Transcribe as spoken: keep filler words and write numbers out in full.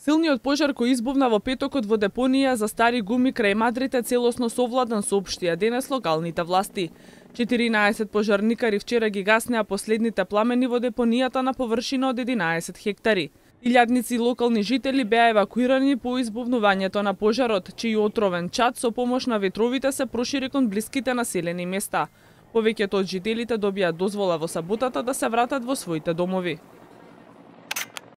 Силниот пожар кој избувна во петокот во депонија за стари гуми крај Мадрид е целосно совладан, соопштија денес локалните власти. четиринаесет пожарникари вчера ги гаснеа последните пламени во депонијата на површина од единаесет хектари. Илјадници локални жители беа евакуирани по избувнувањето на пожарот, чиј отровен чад со помош на ветровите се прошири кон блиските населени места. Повеќето од жителите добија дозвола во саботата да се вратат во своите домови.